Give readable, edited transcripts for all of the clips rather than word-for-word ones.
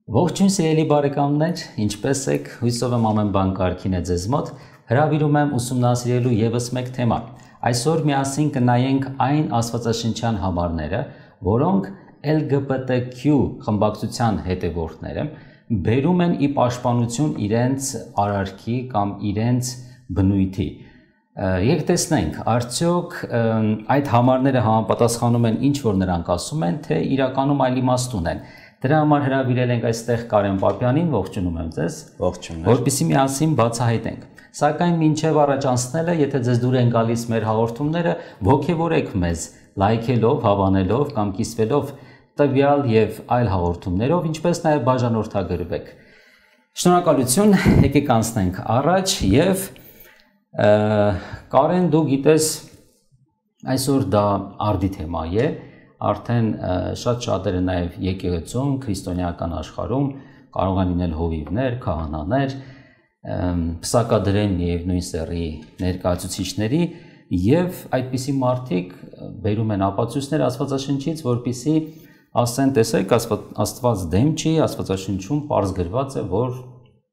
Ողջույն սիրելի բարեկամներ, ինչպե՞ս եք։ Հույսով եմ ամեն բան կարգին է ձեզ մոտ։ Հրավիրում եմ ուսումնասիրելու եւս մեկ թեմա։ Այսօր միասին կնայենք այն աստվածաշնչյան համարները, որոնք LGBTQ խմբակցության հետևորդները բերում են ի պաշտպանություն իրենց արարքի կամ իրենց բնույթի։ Եկեք տեսնենք, արդյոք այդ համարները համապատասխանում են ինչ որ նրանք ասում են, թե իրականում այլ իմաստ ունեն։ Դրա համար հրավիրել ենք այստեղ Կարեն Պապյանին, ողջունում եմ ձեզ, որպեսզի միասին բացահայտենք։ Սակայն մինչև առաջ անցնելը, եթե ձեզ դուր են գալիս մեր հաղորդումները, ողջևորեք մեզ, լայքելով, հավանելով կամ կիսվելով տվյալ եւ այլ հաղորդումներով, ինչպես նաեւ բաժանորդագրվեք։ Շնորհակալություն, եկեք անցնենք առաջ եւ Կարեն, դու գիտես, այսօր դա արդի թեմա է, արդեն շատ շատերը նաև եկեղեցում, քրիստոնեական աշխարհում կարող են լինել հովիվներ, քահանաներ, պսակադրեն եւ նույն սեռի ներկայացուցիչների եւ այդպիսի մարդիկ բերում են ապացույցներ Աստվածաշնչից, որպիսի ասեն, տեսեք, Աստված դեմ չի, Աստվածաշնչում պարզ գրված է, որ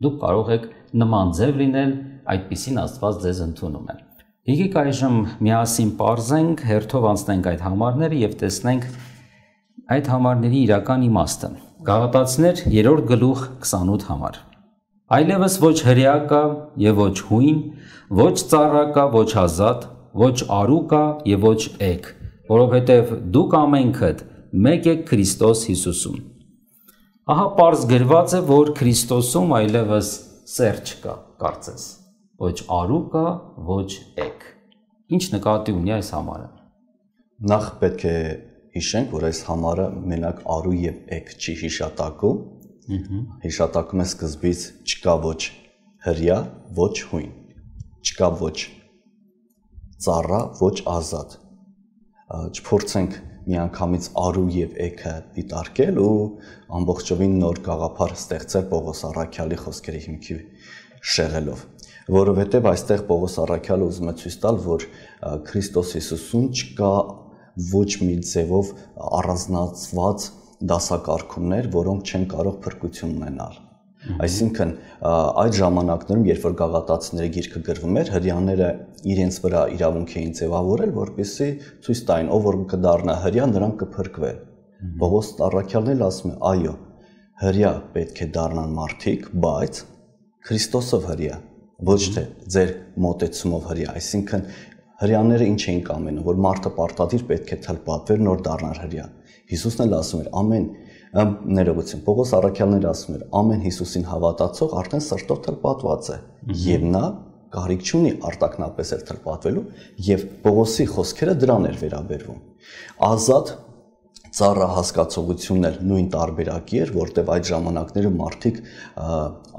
դուք կարող եք նման ձև լինել, այդպիսին Աստված ձեզ ընդունում է։ Եկեք այժմ միասին պարզենք, հերթով անցնենք այդ համարները եւ տեսնենք այդ համարների իրական իմաստը։ Գաղատացիներ 3-րդ գլուխ 28 համար։ Այլևս ոչ հրեա կա եւ ոչ հույն, ոչ ծառա կա, ոչ ազատ, ոչ արու կա եւ ոչ էգ, որովհետեւ դուք ամենքդ մեկ եք Քրիստոս Հիսուսում։ Ահա պարզ գրված է, որ Քրիստոսում այլևս սեր չկա, կարծես։ Ոչ արու կա, ոչ էգ։ Ինչ նկատի ունի այս համարը։ Նախ պետք է հիշենք, որ այս համարը մենակ արու եւ էգ չի հիշատակում։ Հիշատակում է սկզբից չկա ոչ հրեա, ոչ հույն, չկա ոչ ծառա, ոչ ազատ։ Չփորձենք միանգամից արու եւ էգը դիտարկել ու ամբողջովին նոր գաղափար ստեղծել Պողոս առաքյալի խոսքերի հիմքի շեղելով, որովհետեւ այստեղ Պողոս առաքյալը ուզում է ցույց տալ, որ Քրիստոս Հիսուսում չկա ոչ մի ձևով առանձնացված դասակարգումներ, որոնք չեն կարող փրկություն ունենալ։ Այսինքն այդ ժամանակներում, երբ որ Գաղատացիների գիրքը գրվում էր, հրեաները իրենց վրա իրավունք էին ձևավորել, որպեսզի ցույց տային, ով որ կդառնա հրեա, նրանք կփրկվեն։ Պողոս առաքյալն էլ ասում է, այո, հրեա պետք է դառնան մարդիկ, բայց Քրիստոսով հրեա, ոչ թե ձեր մոտեցումով հրեա, այսինքն հրեաները ինչ էին կամենում, որ մարդը պարտադիր պետք է թլպատվեր, նոր դառնար հրեա։ Հիսուսն էլ ասում էր, ներողություն, Պողոս առաքյալն էլ ասում էր, ամեն Հիսուսին հավատացող արդեն սրտով թլպատված է, եւ նա կարիք չունի արտակնապես էլ թլպատվելու, եւ Պողոսի խոսքերը դրան էր վերաբերվում։ Ազատ ծառա հասկացողությունն էլ նույն տարբերակի էր, որտեղ այդ ժամանակներում մարդիկ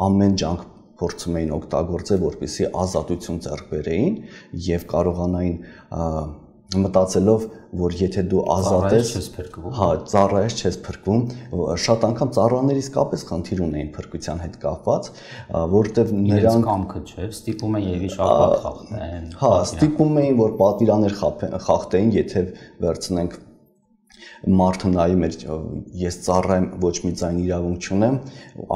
ամեն ջանք փորձում էին օգտագործել, որպեսզի ազատություն ձեռք բերեին եւ կարողանային մտածելով, որ եթե դու ազատ ես, հա, ծառա ես, չես փրկվում, շատ անգամ ծառաները իսկապես խնդիր ունեին փրկության հետ կապված, որտեղ նրանք կամքը չէ, ստիպում են եւ իշապատ խախտեն։ Հա, ստիպում էին, որ պատվիրաներ խախտեին, եթե վերցնենք մարդը նայում էր, ես ծառա եմ, ոչ մի ձայն իրավունք չունեմ,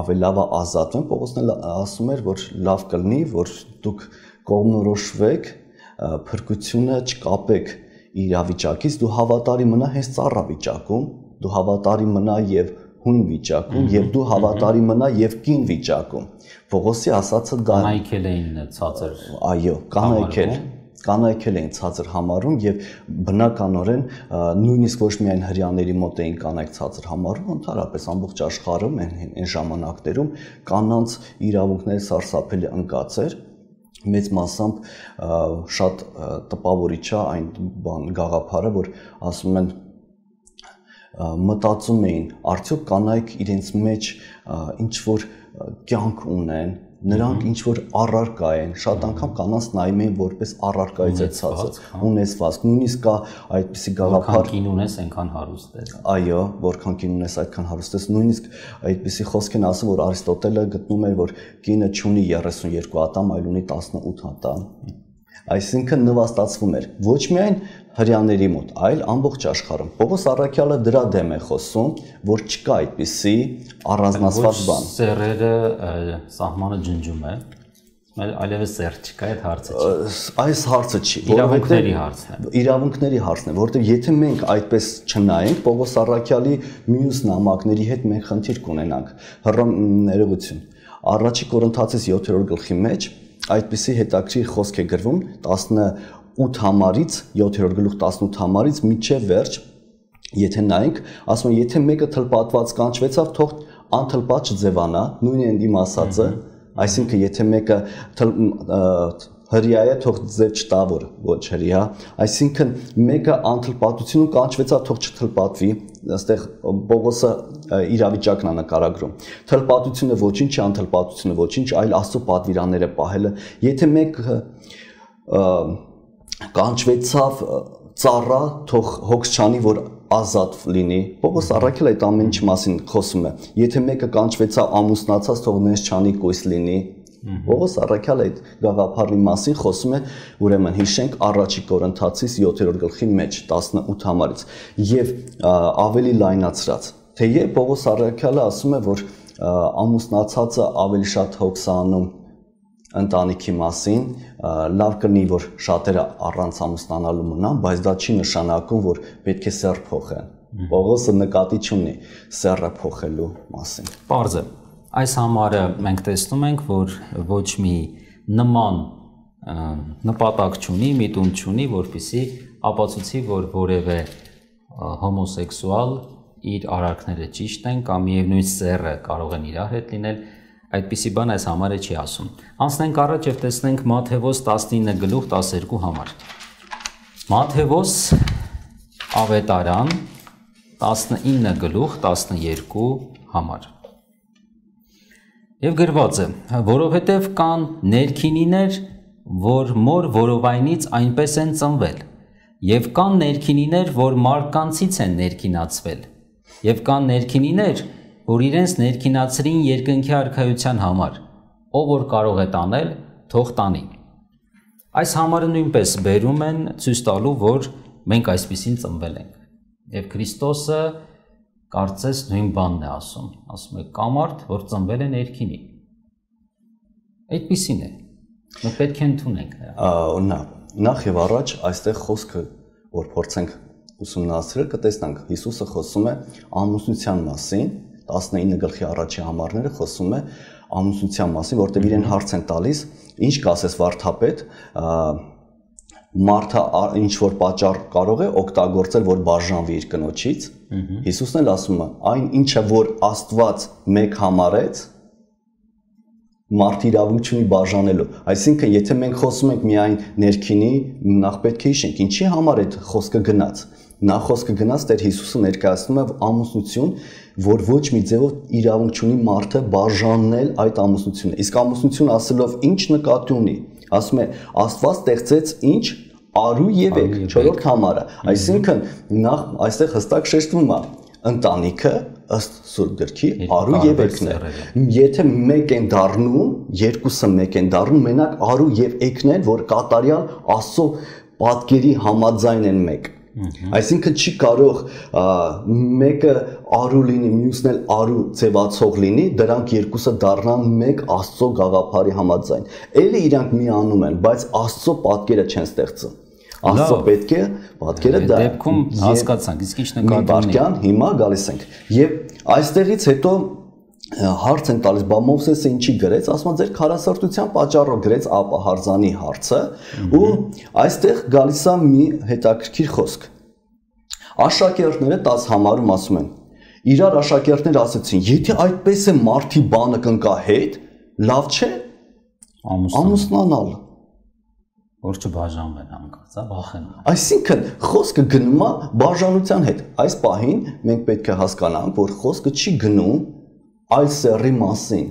ավելի լավ է ազատվեմ, Պողոսն ասում էր, որ լավ կլինի, որ դուք կողմնորոշվեք, փրկությունը չկապեք իրավիճակից, դու հավատարի մնա հենց ծառա վիճակում, դու հավատարի մնա եւ հույն վիճակում եւ դու հավատարի մնա եւ կին վիճակում։ Պողոսի ասածը դա կանայքել էին ցածր։ Այո, կանայքել էին ցածր համարում եւ բնականորեն նույնիսկ ոչ միայն հрьяաների մոտ էին կանայք ցածր համարում, ընդհանրապես ամբողջ աշխարհում այն ժամանակներում կանանց իրավունքների սարսափելի ընկած էր։ Մեծ մասամբ շատ տպավորիչ է այն գաղափարը, որ ասում են մտածում էին, արդյոք կանայք իրենց մեջ ինչ որ կյանք ունեն, նրանք ինչ որ առարկա են, շատ անգամ կանանց նայում էին որպես առարկայից է ցածր, ունեցվածք, նույնիսկ կա այդպիսի գաղափար, որքան կին ունես, այնքան հարուստ ես։ Այո, որքան կին ունես, այդքան հարուստ ես, նույնիսկ այդպիսի խոսք են ասում, որ Արիստոտելը գտնում էր, որ կինը չունի 32 ատամ, այլ ունի 18 ատամ։ Այսինքն նվաստացվում էր ոչ միայն հрьяաների մոտ, այլ ամբողջ աշխարհում։ Պողոս Առաքյալը դրա դեմ է խոսում, որ չկա այդպիսի առանձնացված բան։ Սերերը սահմանը ջնջում է, այլևս սեր չկա, այդ հարցը չի։ Այս հարցը չի, իրավունքների հարցն է։ Իրավունքների հարցն է, որովհետև եթե մենք այդպես չնայենք, Պողոս Առաքյալի մյուս նամակների հետ մենք խնդիր կունենանք։ Ներողություն։ Առաջի Կորինթացիս 7-րդ գլխի մեջ այդպիսի հետաքրքիր խոսք է գրվում 18 համարից 7-րդ գլուխ 18 համարից մինչև վերջ, եթե նայենք, ասում են, եթե մեկը թլպատված կանչվեցավ, թող անթլպատ չձևանա, նույնն է իմ ասածը, այսինքն եթե մեկը հրյա է, թող ձև չտա, որ ոչ հրյա, այսինքն մեկը անթլպատությունում կանչվեցավ, թող չթլպատվի, այստեղ Պողոսը իրավիճակն է նկարագրում։ Թլպատությունը ոչինչ չի, անթլպատությունը ոչինչ, այլ Աստծո պատվիրանները պահելը։ Եթե մեկը կանչվեցավ ծառա, թող հոգս չանի, որ ազատ լինի։ Պողոս Առաքյալը այդ ամեն ինչի մասին խոսում է։ Եթե մեկը կանչվեցավ ամուսնացած, թող նես չանի, կույս լինի։ Պողոս Առաքյալը այդ գաղափարի մասին խոսում է, ուրեմն հիշենք առաջի Կորինթացիս 7-րդ գլխի մեջ 18 համարից եւ ավելի լայնացրած։ Թեև Պողոս Առաքյալը ասում է, որ ամուսնացածը ավելի շատ հոգս անում ընտանիքի մասին, լավ կլինի, որ շատերը առանց ամուսնանալու մնան, բայց դա չի նշանակում, որ պետք է սեռ փոխեն։ Պողոսը նկատի չունի սեռը փոխելու մասին։ Պարզ է։ Այս համարը մենք տեսնում ենք, որ ոչ մի նման նպատակ չունի, միտում չունի, որպեսզի ապացուցի, որ որևէ հոմոսեքսուալ իր արարքները ճիշտ են կամ միևնույն սեռը կարող են իրար հետ լինել, այդպիսի բան այս համարը չի ասում։ Անցնենք առաջ եւ տեսնենք Մատթեոս 19 գլուխ 12 համար։ Մատթեոս ավետարան 19 գլուխ 12 համար։ Եվ գրված է. որովհետև կան ներքինիներ, որ մոր որովայնից այնպես են ծնվել, եւ կան ներքինիներ, որ մարկանցից են ներքինացվել, եւ կան ներքինիներ, որ իրենց ներքինացրին երկնքի արքայության համար, ով որ կարող է տանել, թող տանի։ Այս համարը նույնպես բերում են ցույց տալու, որ մենք այսպեսին ծնվել ենք։ Եվ Քրիստոսը կարծես նույն բանն է ասում է կամարդ, որ ծնվել է ներքինի։ Այդպիսին է։ Մենք պետք է ընդունենք նրա։ Նախ եւ առաջ այստեղ խոսքը, որ փորձենք ուսումնասիրել, կտեսնանք Հիսուսը խոսում է ամուսնության մասին, 19 գլխի առաջի համարները խոսում է ամուսնության մասին, որտեղ իրեն հարց են տալիս, ինչ կասես վարդապետ, մարդը ինչ որ պատճառ կարող է օգտագործել, որ բաժանվի իր կնոջից։ Հիսուսն էլ ասում է, այն ինչը որ Աստված մեկ համարեց, մարդ իրավունք չունի բաժանելու։ Այսինքն, եթե մենք խոսում ենք միայն ներքինի, նախ պետք է հիշենք, ինչի համար այդ խոսքը գնաց։ Նախ խոսքը գնաց Տեր Հիսուսը ներկայացնում է ամուսնություն, որ ոչ մի ձևով իրավունք չունի մարդը բաժանել այդ ամուսնությունը։ Իսկ ամուսնություն ասելով ինչ նկատի ունի, ասում է Աստված ստեղծեց ինչ արու եւ եկ, 4-րդ համարը։ Այսինքն նախ այստեղ հստակ շեշտվում է ընտանիքը ըստ Սուրբ գրքի արու եւ եկն է։ Եթե մեկ են դառնում, երկուսը մեկ են դառնում, մենակ արու եւ եկն են, որ կատարյալ Աստծո պատկերի համաձայն են մեկ։ Այսինքն չի կարող մեկը արու լինի, մյուսն էլ արու ձևացող լինի, դրանք երկուսը դառնան մեկ Աստծո գաղափարի համաձայն։ Էլի իրանք միանում են, բայց Աստծո պատկերը չեն ստեղծում։ Աստծո պետք է պատկերը դա։ Դեպքում հասկացանք, իսկ ինչ նկատի ունի։ Հիմա գալիս ենք։ Եվ այստեղից հետո հարց են տալիս, բա Մովսեսը ինչի գրեց, ասում է ձեր քարասրտության պատճառով գրեց ապահարձանի հարցը, ու այստեղ գալիս է մի հետաքրքիր խոսք։ Աշակերտները 10 համարում ասում են, իրար աշակերտները ասեցին, եթե այդպես է մարդի բանը կընկա հետ, լավ չէ ամուսնանալ, որ չբաժանվեն հանկարծ, վախենում։ Այսինքն խոսքը գնում է բաժանության հետ։ Այս պահին մենք պետք է հասկանանք, որ խոսքը չի գնում այլ սեռի մասին։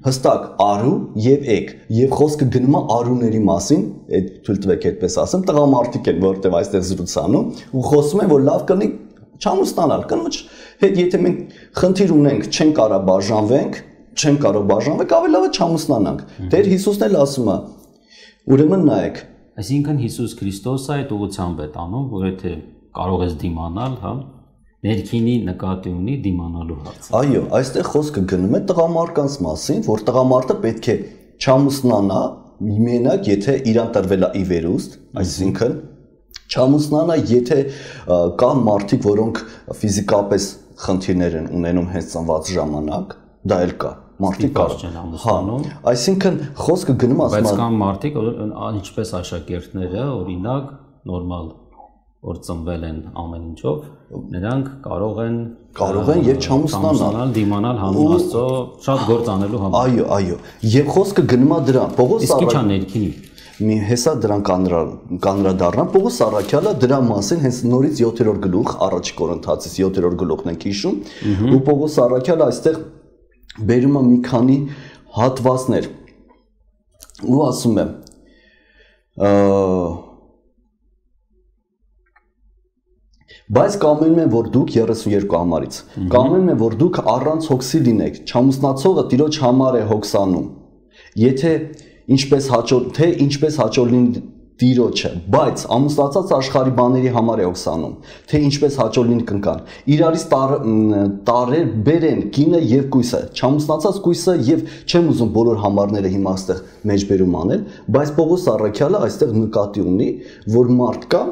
Հստակ արու եւ եկ, եւ խոսքը գնում է արուների մասին, այդ թույլ տվեք այդպես ասեմ, տղամարդիկ են, որտեղ այստեղ զրուցանում, ու խոսում են, որ լավ կլինի չամուսնանալ, կնոջ հետ եթե մենք խնդիր ունենք, չեն կարող բաժանվենք, ավելի լավ է չամուսնանանք։ Տեր Հիսուսն էլ ասում է, ուրեմն նայեք, Այսինքն Հիսուս Քրիստոսը այդ ուղղությամբ է տանում, որ եթե կարող ես դիմանալ, հա, ներքինի նկատի ունի դիմանալու հարցը։ Այո, այստեղ խոսքը գնում է տղամարդկանց մասին, որ տղամարդը պետք է չամուսնանա մենակ, եթե իրան տրվել է ի վերուստ, այսինքն չամուսնանա, եթե կան մարդիկ, որոնք ֆիզիկապես խնդիրներ են ունենում հենց ծնված ժամանակ, դա էլ կա։ Մարդիկ չեն ամուսնանում։ Այսինքն խոսքը գնում ասում է, բայց կան մարդիկ, ինչպես աշակերտները, օրինակ, նորմալ որ ծնվել են ամեն ինչով, նրանք կարող են եւ չամուսնանալ, դիմանալ հանուն Աստծո շատ գործ անելու համար։ Այո, այո։ Եվ խոսքը գնում է դրան։ Պողոս իսկ ի՞նչ է ներքինի։ Մի հեսա դրան կանրադառնամ, Պողոս Առաքյալը դրա մասին հենց նորից 7-րդ գլուխ, առաջի Կորինթացիս 7-րդ գլուխն ենք հիշում, ու Պողոս Առաքյալը այստեղ բերում է մի քանի հատվածներ ու ասում է բայց կամենում եմ, որ դուք 32 համարից կամենում եմ, որ դուք առանց հոգսի լինեք, չամուսնացողը տիրոջ համար է հոգսանում, եթե ինչպես հաճո լինի տիրոջը, բայց ամուսնացած աշխարհի բաների համար է հոգսանում, թե ինչպես հաճո լինի կնկան, իրարից տարեր բերեն կինը եւ կույսը, չամուսնացած կույսը եւ չեմ ուզում բոլոր համարները հիմա այստեղ մեջբերում անել, բայց Պողոս Առաքյալը այստեղ նկատի ունի, որ մարդ կա,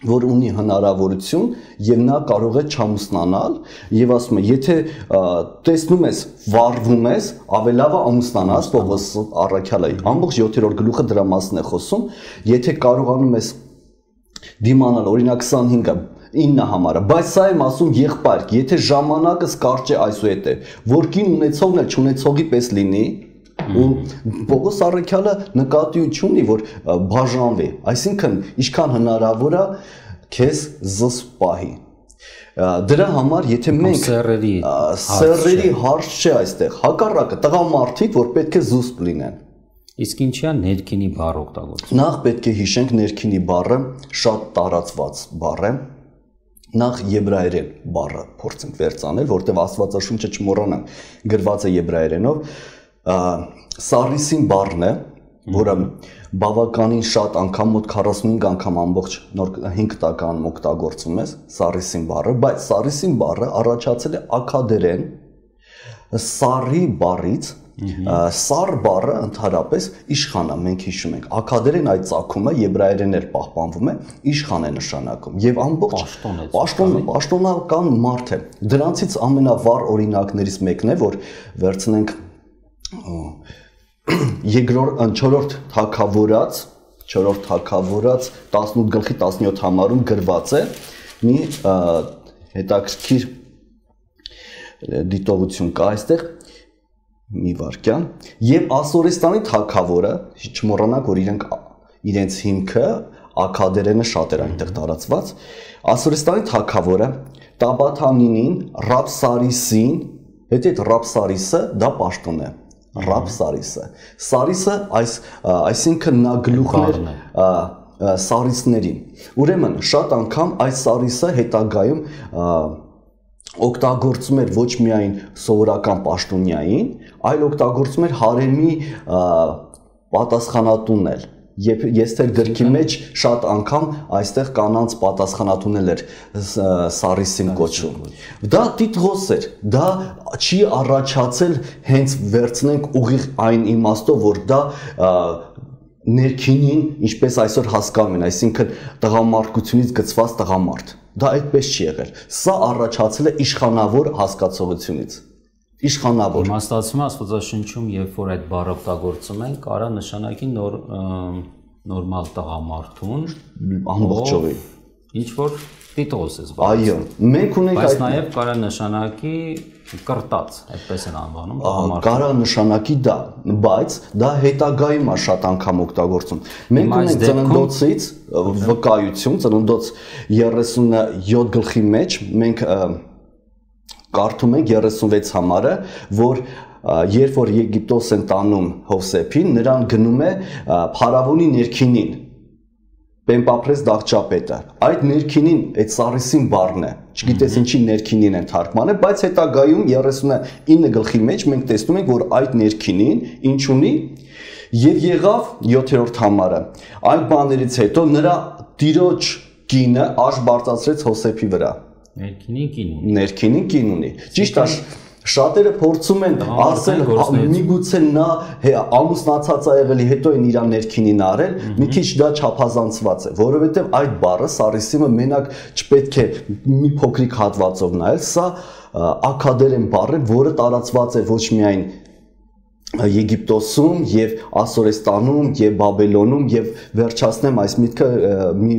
որ ունի հնարավորություն եւ նա կարող է չամուսնանալ եւ ասում է եթե տեսնում ես վառվում ես ավելավը ամուսնանաս Պողոս Առաքյալը ամբողջ 7-րդ գլուխը դրա մասն է խոսում եթե կարողանում ես դիմանալ օրինակ 25-ը 9 համարը բայց սա եմ ասում եղբայր եթե ժամանակս կարճ է այսուհետ է որ կին ունեցողն էլ չունեցողի պես լինի ու Պողոս Առաքյալը նկատի ունի որ բաժանվի այսինքն ինչքան հնարավոր է քեզ զս պահի դրա համար եթե մենք սերերի հարց չէ այստեղ հակառակը տղամարդիկ որ պետք է զուսպ լինեն իսկ ինչի է ներքինի բառ օգտագործում նախ պետք է հիշենք ներքինի բառը շատ տարածված բառ է նախ եբրայերեն բառը փորձենք վերցանել որտեղ Աստվածաշունչը չմոռանանք գրված է եբրայերենով Սարիսին բառն է, որը բավականին շատ անգամ մոտ 45 անգամ ամբողջ նոր 5 տականում օգտագործում է Սարիսին բառը, բայց Սարիսին բառը առաջացել է աքադերեն Սարի բառից, Սար բառը ընդհանրապես իշխան է, մենք հիշում ենք, աքադերեն այդ ծագումը եբրայերեն էր պահպանվում է, իշխան է նշանակում եւ ամբողջ պաշտոնական մարդ է։ Դրանցից ամենավառ օրինակներից մեկն է, որ վերցնենք 4-րդ թագավորած 18 գլխի 17 համարում գրված է մի հետաքրքիր դիտողություն կա այստեղ մի վարքյան եւ Ասորեստանի թագավորը չմոռանաք որ իրենց հիմքը աքադերենը շատ էր այնտեղ տարածված Ասորեստանի թագավորը Տաբաթանինին Ռաբսարիսին հետո այդ Ռաբսարիսը դա պաշտոն է Ռաբսարիսը Սարիսը այսինքն նա գլուխն էր Սարիսներին ուրեմն շատ անգամ այս Սարիսը հետագայում օգտագործում էր ոչ միայն սովորական պաշտոնյային, այլ օգտագործում էր հարեմի պատասխանատուն էլ Եվ ես թեր գրքի մեջ շատ անգամ այստեղ կանանց պատասխանատունել էր Սարիսին կոչում։ Դա տիտղոս էր, դա չի առաջացել հենց վերցնենք ուղիղ այն իմաստով, որ դա ներքինին, ինչպես այսօր հասկանում են, այսինքն տղամարդկությունից գծված տղամարդ։ Դա այդպես չի եղել։ Սա առաջացել է իշխանավոր հասկացողությունից։ Իշխանավոր։ Իմաստացում Աստվածաշնչում, երբ որ այդ բառը օգտագործում են, կարա նշանակի նորմալ տղամարդուն, ամբողջովին։ Ինչ որ տիտղոս է զբաղվում։ Այո, մենք ունենք այդ նաև կարա նշանակի կրտած, այդպես են անվանում տղամարդը։ Կարա նշանակի դա, բայց դա հետագայում է շատ անգամ օգտագործում։ Մենք ունենք ծննդոցից վկայություն, ծննդոց 37 գլխի մեջ մենք կարդում ենք 36 համարը, որ երբ որ Եգիպտոս են տանում Հովսեփին, նրան գնում է փարավոնի ներքինին, Պեմպապրես դաղճապետը։ Այդ ներքինին այդ Սարիսին բառն է, Չգիտես ինչի ներքինին են թարգմանել, բայց հետագայում 39 գլխի մեջ մենք տեսնում ենք, որ այդ ներքինին ինչ ունի եւ եղավ 7-րդ համարը։ Այդ բաներից հետո նրա տիրոջ կինը աշ բարձրացրեց Հոսեփի վրա։ Ներքինին կին ունի։ Ճիշտ է, շատերը փորձում են ասել միգուցե նա ամուսնացած է եղել, հետո են իր ներքինին արել, մի քիչ դա չափազանցված է, որովհետև այդ բառը սարիսիմը մենակ չպետք է մի փոքրիկ հատվածով նայել, սա աքադերեն բառ է, որը տարածված է ոչ միայն Եգիպտոսում եւ Ասորեստանում եւ Բաբելոնում եւ վերջացնեմ այս միտքը մի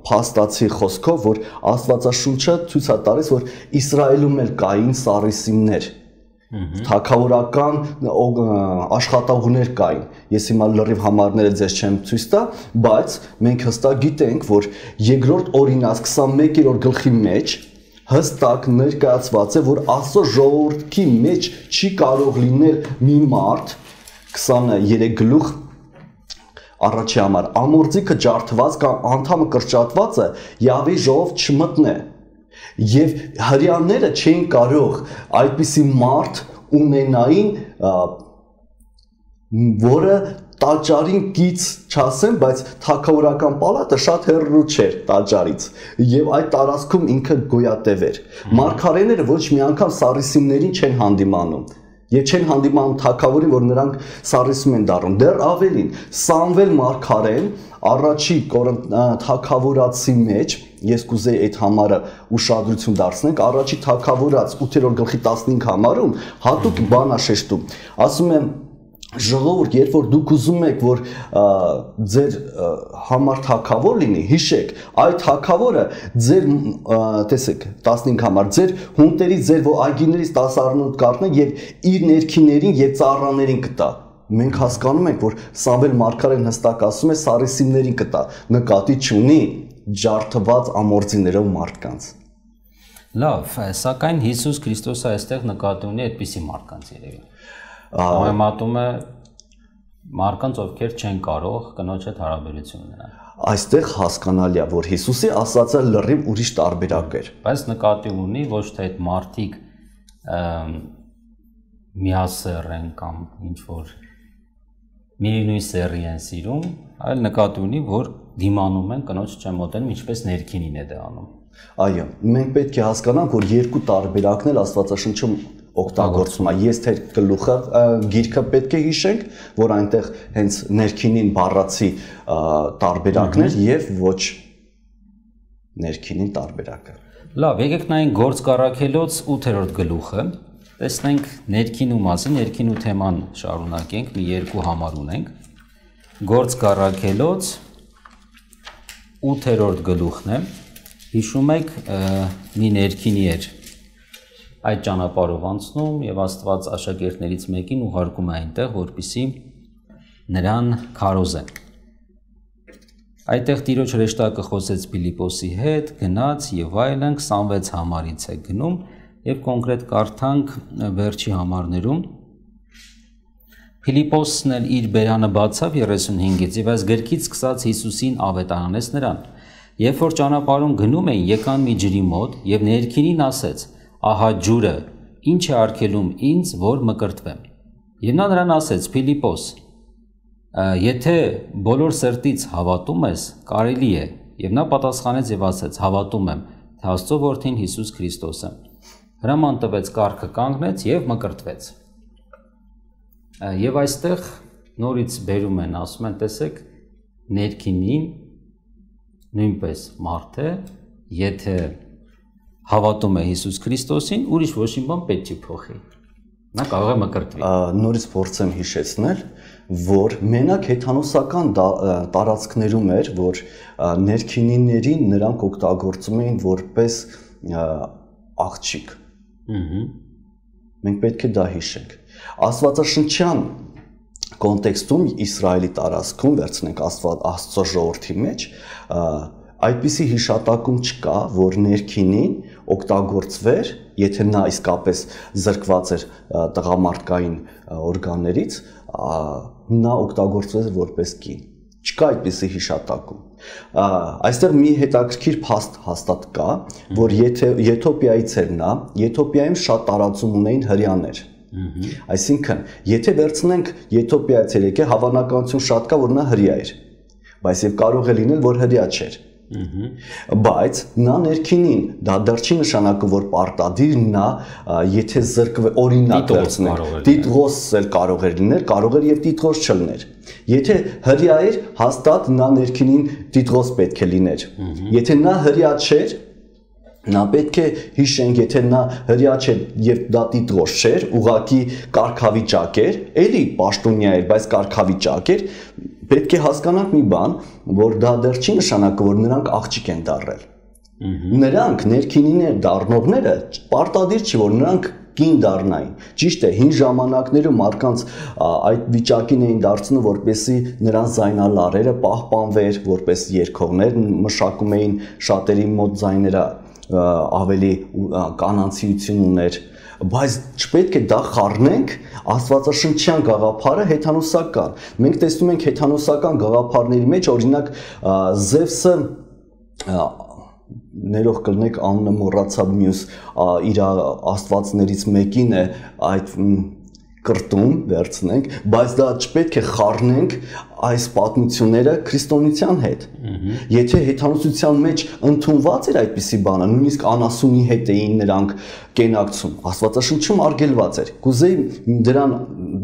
փաստացի խոսքով, որ Աստվածաշունչը ցույց է տալիս, որ Իսրայելում էլ կային սարիսիմներ, թագավորական աշխատողներ կային։ Ես հիմա լրիվ համարները ձեզ չեմ ցույց տա, բայց մենք հստակ գիտենք, որ երկրորդ օրինաց 21-րդ գլխի մեջ հստակ ներկայացված է, որ Աստծո ժողովրդի մեջ չի կարող լինել մի մարդ 23 գլուխ առաջի համար ամորձիկը ջարդված կամ անդամը կրճատվածը Յահվեի ժողով չմտնե եւ հрьяաները չէին կարող այդպիսի մարդ ունենային, որը տաճարին գից չասեմ, բայց թագավորական պալատը շատ հեռու չէր տաճարից եւ այդ տարածքում ինքը գոյատև էր։ Մարգարեները ոչ մի անգամ սարիսիմներին չեն հանդիմանում եւ չեն հանդիմանում թագավորին, որ նրանք սարիսիմ են դառնում։ Դեռ ավելին, Սամվել մարգարեն առաջի թագավորացի մեջ, ես կուզեի այդ համարը ուշադրություն դարձնենք, առաջի թագավորաց 8-րդ գլխի 15 համարում հատուկ բան է շեշտում, ասում եմ ժողովուրդ, երբ որ դուք ուզում եք, որ ձեր համար թագավոր լինի, հիշեք, այդ թագավորը ձեր, տեսեք, 15 համար, ձեր հունտերից, ձեր այգիներից 10 կառնե եւ իր ներքիներին եւ ծառաներին կտա։ Մենք հասկանում ենք, որ Սամվել մարգարեն հստակ ասում է սարիսիմներին կտա, նկատի չունի ջարդված ամորձիներով մարդկանց։ Լավ, սակայն Հիսուս Քրիստոսը այստեղ նկատի ունի այդպիսի մարդկանց երևի։ Համեմատում է մարդկանց, ովքեր չեն կարող կնոջ հետ հարաբերություն ունենալ։ Այստեղ հասկանալի է, որ Հիսուսի ասածը լրիվ ուրիշ տարբերակ էր։ Բայց նկատի ունի ոչ թե այդ մարդիկ միասեռ են կամ ինչ որ միևնույն սեռի են սիրում, այլ նկատի ունի, որ դիմանում են կնոջ չեն մոտենում, ինչպես ներքինին է դա անում։ Այո, մենք պետք է հասկանանք, որ երկու տարբերակն էլ Աստվածաշնչում օգտագործում է։ Ես թե գլուխը գիրքը պետք է հիշենք, որ այնտեղ հենց ներքինին բառացի տարբերակն էր եւ ոչ ներքինին տարբերակը։ Լավ, եկեք նայենք Գործ Առաքելոց 8-րդ գլուխը, տեսնենք ներքինու մասին, ներքինու թեման շարունակենք, մի երկու համար ունենք։ Գործ Առաքելոց 8-րդ գլուխն է, հիշում եք մի ներքինի էր այդ ճանապարհով անցնում եւ Աստված աշակերտներից մեկին ուղարկում է այնտեղ, որպեսզի նրան քարոզեն։ Այդտեղ Տիրոջ հրեշտակը խոսեց Փիլիպոսի հետ, գնաց եւ այլն 26 համարից է գնում եւ կոնկրետ կարդանք վերջի համարներում։ Փիլիպոսն էլ իր բերանը բացավ 35-ից եւ այս գրքից սկսած Հիսուսին ավետարանեց նրան։ Երբ որ ճանապարհում գնում էին, եկան մի ջրի մոտ եւ ներքինին ասեց. «Ահա ջուրը, ինչ է արգելում ինձ, որ մկրտվեմ»։ Եվ նա նրան ասեց. «Փիլիպոս, եթե բոլոր սրտից հավատում ես, կարելի է»։ Եվ նա պատասխանեց եւ ասեց. «Հավատում եմ, թե Աստծո որդին Հիսուս Քրիստոսը»։ Հրաման տվեց, կառքը կանգնեց եւ մկրտվեց։ Եվ այստեղ նորից բերում են, ասում են, տեսեք, ներքինին նույնպես մարդ է, եթե հավատում է Հիսուս Քրիստոսին, ուրիշ ոչ մի բան պետք չի փոխի։ Նա կարող է մկրտվի։ Նորից փորձեմ հիշեցնել, որ մենակ հեթանոսական տարածքներում էր, որ ներքինիներին նրանք օգտագործում էին որպես աղջիկ։ Մենք պետք է դա հիշենք։ Աստվածաշնչյան կոնտեքստում Իսրայելի տարածքում վերցնենք Աստծո ժողովրդի մեջ, այդպիսի հիշատակում չկա, որ ներքինին օգտագործվեր, եթե նա իսկապես զրկված էր տղամարդկային օրգաններից, նա օգտագործվեց որպես կին։ Չկա այդպիսի հիշատակում։ Այստեղ մի հետաքրքիր փաստ հաստատ կա, որ եթե Եթովպիայից էր նա, Եթովպիայում շատ տարածում ունեին հրեաներ։ Այսինքն, եթե վերցնենք Եթովպիայից էր եկել, հավանականություն շատ կա, որ նա հրեա էր, բայց եւ կարող է լինել, որ հրեա չէր։ Բայց նա ներքինին դա դեռ չի նշանակում, որ պարտադիր նա եթե զրկվի օրինակ վերցնենք, տիտղոս էլ կարող էր լինել, կարող էր եւ տիտղոս չլիներ։ Եթե հրեա էր, հաստատ նա ներքինին տիտղոս պետք է լիներ։ Եթե նա հրեա չէր, նա պետք է հիշենք, եթե նա հրեա չէր եւ դա տիտղոս չէր, ուղակի կարգավիճակ էր, էլի պաշտոնյա էր, բայց կարգավիճակ էր, պետք է հասկանանք մի բան, որ դա դեռ չի նշանակում, որ նրանք աղջիկ են դառել։ Նրանք ներքինիներ դառնողները պարտադիր չի, որ նրանք կին դառնային։ Ճիշտ է, հին ժամանակներում մարդկանց այդ վիճակին էին դարձնում, որպեսզի նրանց զայնալարերը պահպանվեր, որպես երգողներ մշակում էին շատերի մոտ զայները ավելի կանանցիություն ուներ, բայց չպետք է դա խառնենք աստվածաշնչյան գաղափարը հեթանոսական։ Մենք տեսնում ենք հեթանոսական գաղափարների մեջ, օրինակ Զևսը ներող կլնեք անունը մոռացա մյուս իր աստվածներից մեկին է այդ կրտում վերցնենք, բայց դա չպետք է խառնենք այս պատմությունները քրիստոնեության հետ։ Եթե հեթանոսության մեջ ընդունված էր այդպիսի բանը, նույնիսկ անասունի հետ էին նրանք կենակցում, աստվածաշնչում արգելված էր։ Կուզեի դրան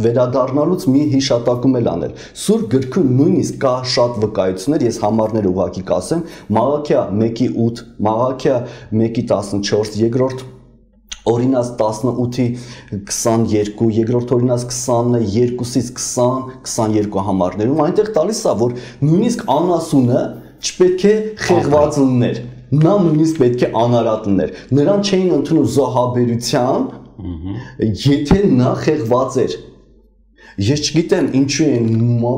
վերադառնալուց մի հիշատակում էլ անել։ Սուրբ գրքում նույնիսկ կա շատ վկայություններ, ես համարներ ուղղակի կասեմ, Մաղաքիա 1:8, Մաղաքիա 1:14, երկրորդ Օրինաց 18-ի 22, երկրորդ Օրինաց 22-ից 20, 22 համարներում այնտեղ տալիս է, որ նույնիսկ անասունը չպետք է խեղված լիներ, նա նույնիսկ պետք է անարատ լիներ, նրան չէին ընդունում զոհաբերության, եթե նա խեղված էր։ Ես չգիտեմ ինչու են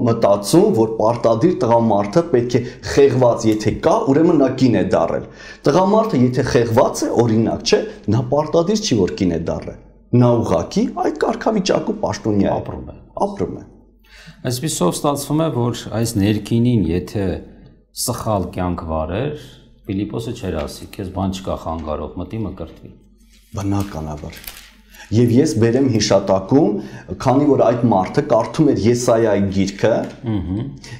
մտածում, որ պարտադիր տղամարդը պետք է խեղված, եթե կա, ուրեմն նա կին է դառել։ Տղամարդը եթե խեղված է, օրինակ չէ, նա պարտադիր չի, որ կին է դառել։ Նա ուղղակի այդ կարգավիճակում պաշտոնյա ապրում է։ Այսպիսով ստացվում է, որ այս ներքինին, եթե սխալ կյանք վարեր, Ֆիլիպոսը չէր ասի, քեզ բան չկա խանգարող, մտի մկրտվի։ Բնականաբար։ Եվ ես բերեմ հիշատակում, քանի որ այդ մարդը կարդում էր Եսայայի գիրքը,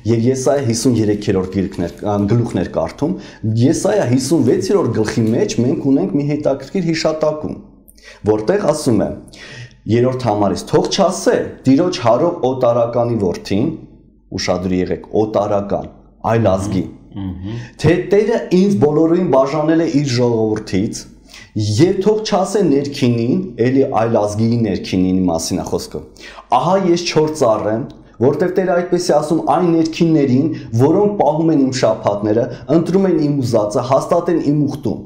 եւ Եսայա 53-րդ գլուխն էր կարդում, Եսայա 56-րդ գլխի մեջ մենք ունենք մի հետաքրքիր հիշատակում, որտեղ ասում է 3-րդ համարից թող չասե Տիրոջ հարող օտարականի որդին, ուշադրի եղեք, օտարական, այլ ազգի, թե Տերը ինձ բոլորին բաժանել է իր ժողովրդից, Եվ թող չասե ներքինին, էլի այլ ազգի ներքինին մասին է խոսքը։ Ահա ես չոր ծառ եմ, որտեղ Տերը այդպես է ասում այն ներքիններին, որոնք պահում են իմ շաբաթները, ընտրում են իմ ուզածը, հաստատեն իմ ուխտում։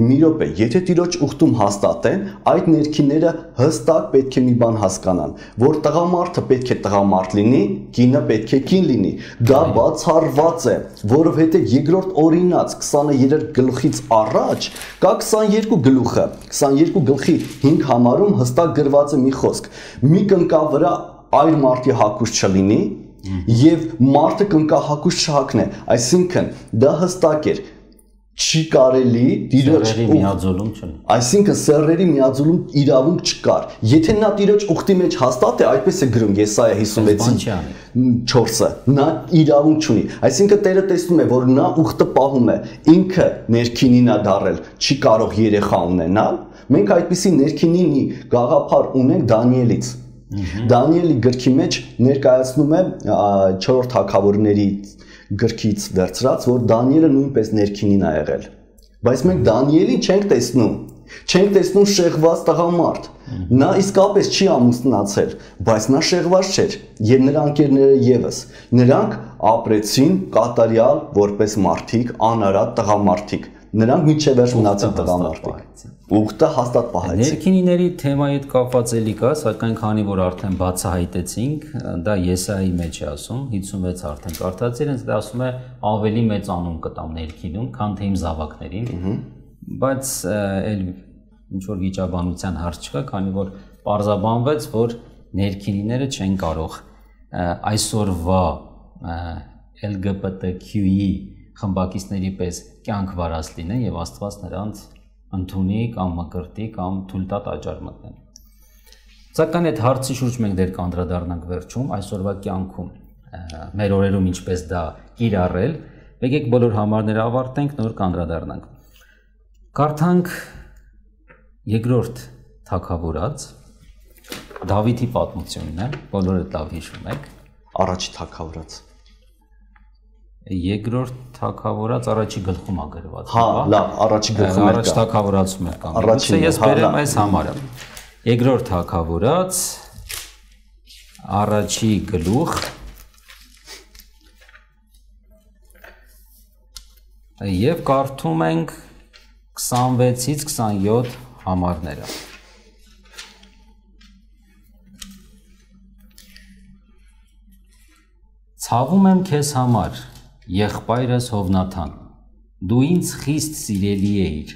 Մի րոպե, եթե Տիրոջ ուխտում հաստատեն, այդ ներքինները հստակ պետք է մի բան հասկանան, որ տղամարդը պետք է տղամարդ լինի, կինը պետք է կին լինի։ Դա բացառված է, որովհետև երկրորդ Օրինաց 23 գլխից առաջ կա 22 գլուխը, 22 գլխի 5 համարում հստակ գրված է մի խոսք. մի կնկա վրա այլ մարդի հակուս չլինի եւ մարդը կնկա հակուս չհակնե, այսինքն դա հստակ էր, չի կարելի Տիրոջ միաձուլում չլինի, այսինքն սեռերի միաձուլում իրավունք չկար, եթե նա Տիրոջ ուխտի մեջ հաստատ է, այդպես է գրում Եսայա 56-4-ը, նա իրավունք չունի, այսինքն Տերը տեսնում է, որ նա ուխտը պահում է, ինքը ներքինին է դառել, չի կարող երեխա ունենալ, մենք այդպիսի ներքինի գաղափար ունենք Դանիելից։ Դանիելի գրքի մեջ ներկայացնում է 4 թագավորների գրքից վերցրած, որ Դանիելը նույնպես ներքինին է եղել։ Բայց մենք Դանիելին չենք տեսնում շեղված տղամարդ։ Նա իսկապես չի ամուսնացել, բայց նա շեղված չէր, եւ նրա ընկերները եւս։ Նրանք ապրեցին կատարյալ որպես մարդիկ, անարատ տղամարդիկ։ Նրանք միջև վերջ մնացին տղամարդիկ։ Ուխտը հաստատ պահեցին։ Ներքինիների թեմայի հետ կապված էլի կա, սակայն քանի որ արդեն բացահայտեցինք, դա Եսայի մեջ է ասում, 56 արդեն կարդացել են, դա ասում է ավելի մեծ անուն կտամ ներքինում, քան թե իմ զավակներին, բայց էլ ինչ որ վիճաբանության հարց չկա, քանի որ պարզաբանվեց, որ ներքինիները չեն կարող այսօրվա LGBTQ-ի խմբակիցների պես կյանք վարած լինեն եւ Աստված նրանց ընդունի կամ մկրտի կամ թույլ տա տաճար մտնեն։ Սակայն այդ հարցի շուրջ մենք դեռ կանդրադառնանք վերջում, այսօրվա կյանքում մեր օրերում ինչպես դա կիրառել, եկեք բոլոր համարները ավարտենք, նոր կանդրադառնանք։ Կարդանք երկրորդ թագավորած Դավիթի պատմությունն է, բոլորը լավ հիշում եք։ Առաջի թագավորած։ Երկրորդ թագավորած առաջի գլխում է գրված։ Հա, լավ, առաջի գլխում է։ Առաջ թագավորացում է կամ։ Առաջին ես բերեմ այս համարը։ Երկրորդ թագավորած առաջի գլուխ եւ կարդում ենք 26-ից 27 համարները։ Ցավում եմ քեզ համար, եղբայրս Հովնաթան, դու ինձ խիստ սիրելի էիր,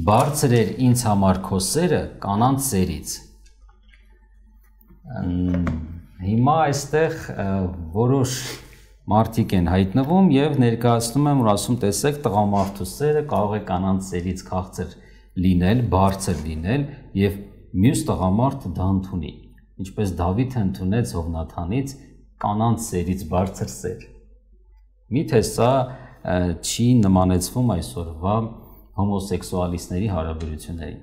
բարձր էր ինձ համար քո սերը կանանց սերից։ Հիմա այստեղ որոշ մարդիկ են հայտնվում եւ ներկայացնում եմ, որ ասում տեսեք տղամարդու սերը կարող է կանանց սերից քաղցր լինել, բարձր լինել եւ մյուս տղամարդը դա ընդունի, ինչպես Դավիթը ընդունեց Հովնաթանից կանանց սերից բարձր սեր։ Միթե սա չի նմանեցվում այսօրվա հոմոսեքսուալիստների հարաբերություններին։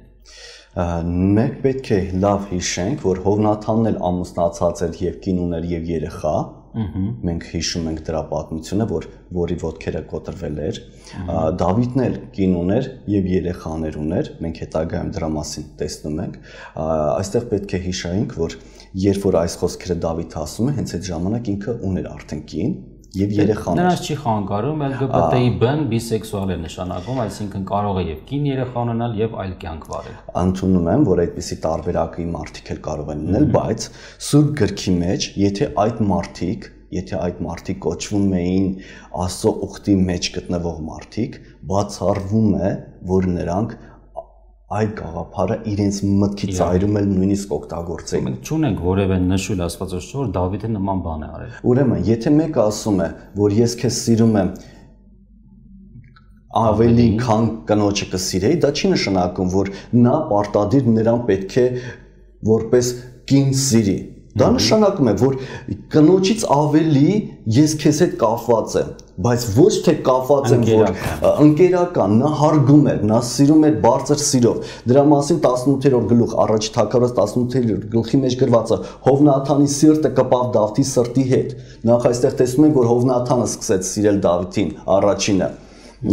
Մենք պետք է լավ հիշենք, որ Հովնաթանն էլ ամուսնացած էր եւ կին ուներ եւ երեխա։ Մենք հիշում ենք դրա պատմությունը, որի ոտքերը կոտրվել էր։ Դավիթն էլ կին ուներ եւ երեխաներ ուներ։ Մենք հետագայում դրա մասին տեսնում ենք։ Այստեղ պետք է հիշենք, որ երբ որ այս խոսքերը Դավիթը ասում է, հենց այդ ժամանակ ինքը ուներ արդեն կին եւ երեխաներ։ Նրանց չի խանգարում, LGBT-ի բն բիսեքսուալ է նշանակում, այսինքն կարող է եւ կին երեխա ունենալ եւ այլ կյանք վարել։ Ընդունում եմ, որ այդպիսի տարբերակի մարդիկ էլ կարող են լինել, բայց Սուրբ գրքի մեջ, եթե այդ մարդիկ կոչվում էին Աստծո ուխտի մեջ գտնվող մարդիկ, բացառվում է, որ նրանք այդ գաղափարը իրենց մտքի ծայրում էլ նույնիսկ օգտագործեին։ Մենք չունենք որևէ նշույլ Աստվածաշնչում, որ Դավիթը նման բան է արել։ Ուրեմն, եթե մեկը ասում է, որ ես քեզ սիրում եմ ավելի քան կնոջը կսիրեի, դա չի նշանակում, որ նա պարտադիր նրան պետք է որպես կին սիրի։ Դա նշանակում է, որ կնոջից ավելի ես քեզ հետ կապված եմ, բայց ոչ թե կապված եմ, որ ընկերական, նա հարգում էր, նա սիրում էր բարձր սիրով։ Դրա մասին 18-րդ գլուխ, առաջի թագավորած 18-րդ գլխի մեջ գրված է. Հովնաթանի սիրտը կպավ Դավթի սրտի հետ։ Նախ այստեղ տեսնում ենք, որ Հովնաթանը սկսեց սիրել Դավթին, առաջինը։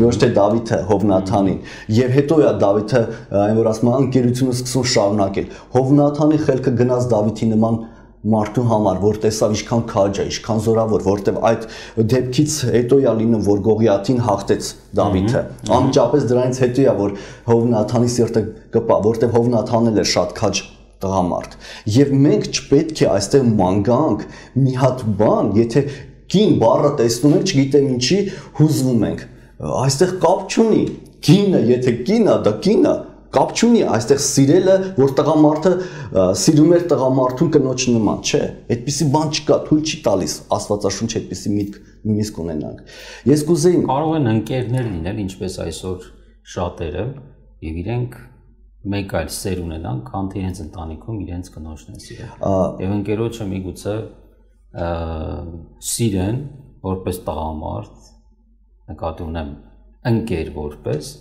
Ոչ թե Դավիթը Հովնաթանին, եւ հետո է Դավիթը այն որ ասում է ընկերությունը սկսում շարունակել։ Հովնաթանի խելքը գնաց Դավիթի նման մարդու համար, որ տեսավ ինչքան քաջ է, ինչքան զորավոր, որտեվ այդ դեպքից հետո է լինում, որ Գողիաթին հաղթեց Դավիթը։ Անմիջապես դրանից հետո է, որ Հովնաթանի սիրտը կպա, որտեվ Հովնաթանն էլ էր շատ քաջ տղամարդ։ Եվ մենք չպետք է այստեղ մանգանք մի հատ բան, եթե կին բառը տեսնում ենք, չգիտեմ ինչի հուզվում ենք։ Այստեղ կապ չունի։ Կինը, եթե կինը, դա կինը, կապ չունի այստեղ սիրելը, որ տղամարդը սիրում էր տղամարդուն կնոջ նման, չէ, այդպիսի բան չկա, թույլ չի տալիս Աստվածաշունչ այդպիսի միտք նույնիսկ ունենանք։ Ես կուզեի կարող են ընկերներ լինել, ինչպես այսօր շատերը, եւ իրենք մեկ այլ սեր ունենան, քան թե իրենց ընտանիքում իրենց կնոջն են սիրել։ Եվ ընկերոջը միգուցե սիրեն որպես տղամարդ, նկատի ունեմ ընկեր որպես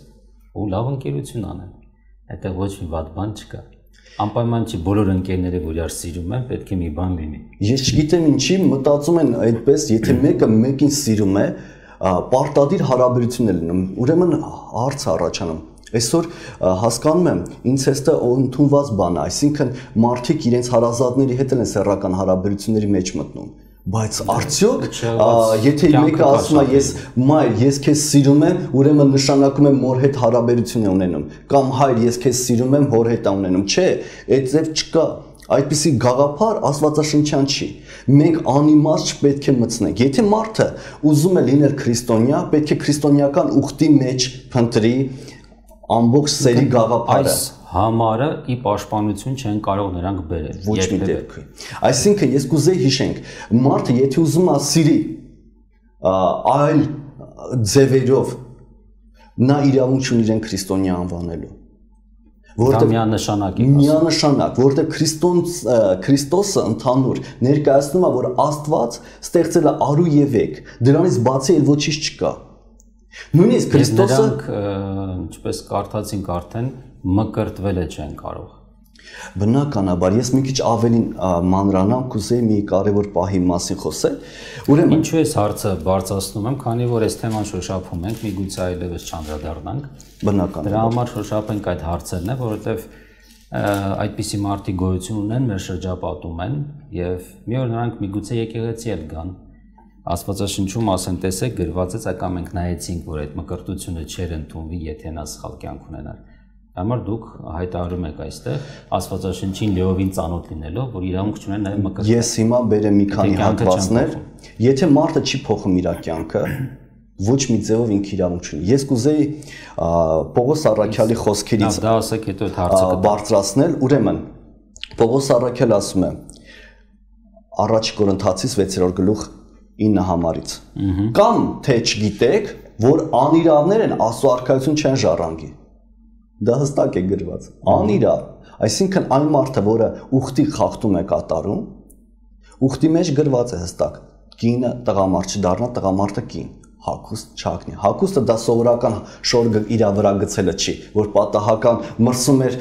ու լավ ընկերություն անեն։ Այդտեղ ոչ մի վատ բան չկա։ Անպայման չի բոլոր ընկերները, որ իրար սիրում են, պետք է մի բան լինի։ Ես չգիտեմ ինչի մտածում են այդպես, եթե մեկը մեկին սիրում է, պարտադիր հարաբերություն է լինում։ Ուրեմն հարց առաջանում։ Այսօր հասկանում եմ, ինցեստը ընդունված բան է, այսինքն մարդիկ իրենց հարազատների հետ են սեռական հարաբերությունների մեջ մտնում։ Բայց արդյոք եթե մեկը ասում է ես քեզ սիրում եմ, ուրեմն նշանակում է մոր հետ հարաբերություն է ունենում, կամ հայր ես քեզ սիրում եմ, հոր հետ է ունենում, չէ, այդ ձև չկա, այդպիսի գաղափար աստվածաշնչյան չի։ Մենք անիմաստ չպետք է մտցնենք։ Եթե մարդը ուզում է լինել քրիստոնյա, պետք է քրիստոնեական ուխտի մեջ փնտրի ամբողջ սերի գաղափարը։ Համարը ի պաշտպանություն չեն կարող նրանք բերել։ Ոչ մի դեպքում։ Այսինքն ես կուզեի հիշենք, մարդը եթե ուզում է սիրի, այլ ձևերով նա իրավունք ունի իրեն քրիստոնյա անվանելու։ Որտեղ միանշանակ, որտեղ Քրիստոսը ընդհանուր ներկայացնում է, որ Աստված ստեղծել է արու եւ եք, դրանից բացի էլ ոչինչ չկա։ Նույնիսկ Քրիստոսը, ինչպես կարդացինք արդեն, մկրտվել է չեն կարող։ Բնականաբար, ես մի քիչ ավելին մանրանամ, կուզեի մի կարևոր պահի մասին խոսել։ Ուրեմն ինչու ես հարցը բարձրացնում եմ, քանի որ այս թեման շոշափում ենք, միգուցե այլևս չանդրադառնանք։ Բնական։ Դրա համար շոշափենք այդ հարցերն է, որովհետև այդպիսի մարդիկ գոյություն ունեն, մեր շրջապատում են եւ մի օր նրանք միգուցե եկեղեցի էլ գան։ Աստվածաշնչում ասեն, տեսեք, գրված է, սակայն մենք նայեցինք, որ այդ մկրտությունը չէր ընդունվի, եթե նա սխալ կյանք ունենար։ Համար դուք հայտարարում եք այստեղ Աստվածաշնչին լիովին ծանոթ լինելով, որ իրավունք չունեն նաև մկրտել։ Ես հիմա բերեմ մի քանի հատվածներ, եթե մարդը չի փոխում իր կյանքը, ոչ մի ձևով ինքը իրավունք չունի։ Ես կուզեի Պողոս Առաքյալի խոսքերից դա ասեք, հետո այդ հարցը բարձրացնել, ուրեմն Պողոս Առաքյալը ասում է Առաջ Կորինթացիս 6-րդ գլուխ 9 համարից։ Կամ թե չգիտեք, որ անիրավներ են Աստծո արքայություն չեն ժառանգի։ Դա հստակ է գրված։ Անիրավ, այսինքն այն մարդը, որը ուխտի խախտում է կատարում, ուխտի մեջ գրված է հստակ. կինը տղամարդ չդառնա, տղամարդը կին, հագուստ չհագնի։ Հագուստը դա սովորական շոր իր վրա գցելը չի, որ պատահական մրսում էր